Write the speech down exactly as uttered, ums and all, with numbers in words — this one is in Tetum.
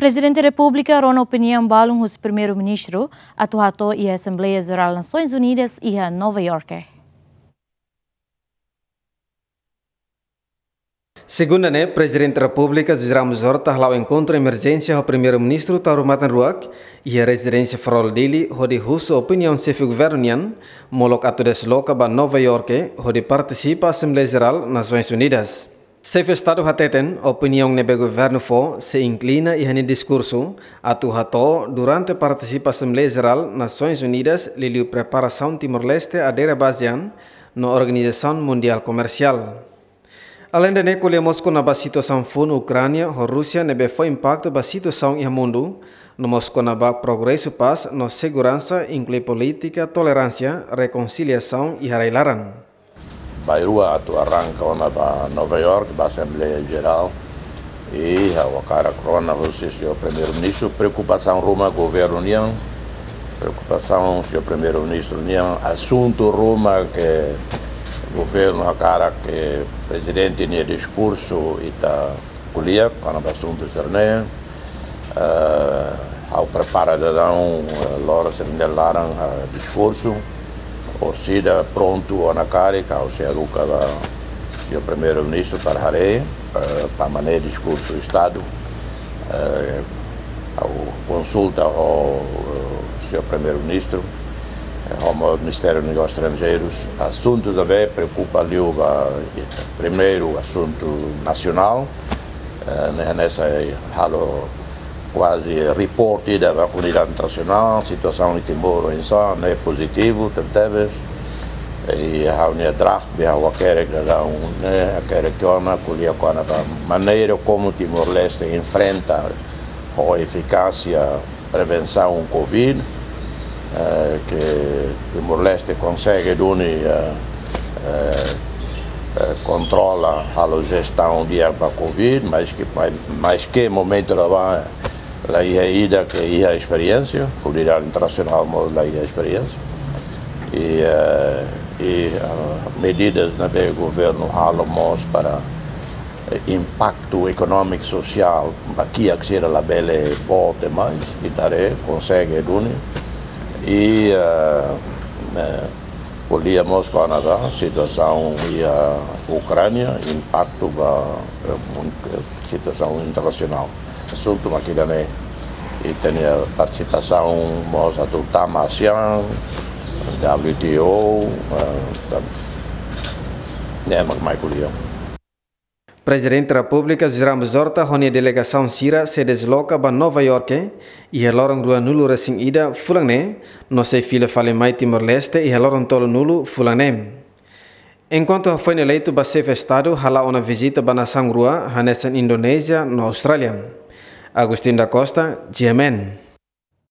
Prezidente Repúblika rona opiniaun balun husi Primeiru-Ministru atu hato'o iha Asembleia Jerál Nasoins Unidas iha Nova Iorke. Segunda ne'e, Prezidente Repúblika José Ramos Horta hala'o enkontru emerjénsia ho Primeiru-Ministru Taur Matan Ruak iha rezidénsia Farol Dili, hodi husu opiniaun xefe governu nian molok atu desloka ba Nova Iorke hodi partisipa Asembleia Jerál Nasoins Unidas. Xefe Estadu hateten, opiniaun ne'ebé governu fó sei inklina iha nia diskursu atu hato'o durante partisipa Asembleia Jerál Nasoins Unidas, liuliu preparasaun Timor-Leste adere ba ASEAN no Organizasaun Mundiál Komersiál. Aleinde ne'e, ko'alia mós kona-ba situasaun foun Ukránia ho Rúsia ne'ebé fó impaktu ba situasaun iha mundu, no mós kona-ba progresu pás no seguransa, inklui polítika toleránsia, rekonsiliasaun iha rai-laran. Bairrua atu arranka ona ba Nova York, ba Asembleia Jerál. I ha'u hakarak rona husi señór Primeiru-Ministru preokupasaun ruma governu nian, preokupasaun señór Primeiru-Ministru nian, asuntu ruma ke governu hakarak ke prezidente nia diskursu ita ko'alia kona-ba asuntu sira-ne'e. Eh, ha'u prepara daudaun, eh, loron sira-ne'e laran, eh, diskursu. Orsida prontu ona karik, ha'u sei haruka ba señór Primeiru-Ministru para haree, eh, para manter diskursu Estadu. Eh, ha'u konsulta ho, eh, señór Primeiru-Ministru, eh, ho Ministériu Negósius Estranjeirus. Asuntu ne'ebé preokupa liu ba, eh, primeiru asuntu nasionál, eh, ne'e hanesan halo kuaze report ida ba komunidade internasionál, situasaun iha Timor oinsá, ne'e pozitivu tebetebes. I ha'u-nia draft ne'ebé ha'u hakerek daudaun ne'e, hakerek ona, ko'alia kona-ba maneira komu Timor-Leste enfrenta ho efikásia prevensaun covid, eh, ke Timor-Leste konsege duni, eh, eh, eh, kontrola, halo jestaun di'ak ba covid, maske, mai-, maske momentu ne'ebá la iha ida ke iha esperiénsia, komunidade internasionál mós la iha esperiénsia. I, eh, i, eh, medidas ne'ebé governu halo mós para, eh, impaktu ekonómiku sosiál ba kiak sira labele boot demais, ita haree konsege duni. I, eh, eh, ko'alia mós kona-ba situasaun iha Ukránia, impaktu ba, eh, mun-, eh, situasaun internasionál. Asuntu mak ida-ne'e, i tenke partisipasaun mós atu tama ASEAN, W T O, eh, tan-, ne'e mak mai ko'alia. Prezidente Repúblika José Ramos Horta ho nia delegasaun sira sei desloka ba Nova Iorke iha loron ruanulu-resin-ida fulan ne'e, no sei fila fali mai Timor-Leste iha loron tolunulu fulan ne'e. Enkuantu hafoin eleitu ba xefe Estadu hala'o ona vizita ba nasaun rua hanesan Indonézia no Austrália. Agostinho da Costa, G M N.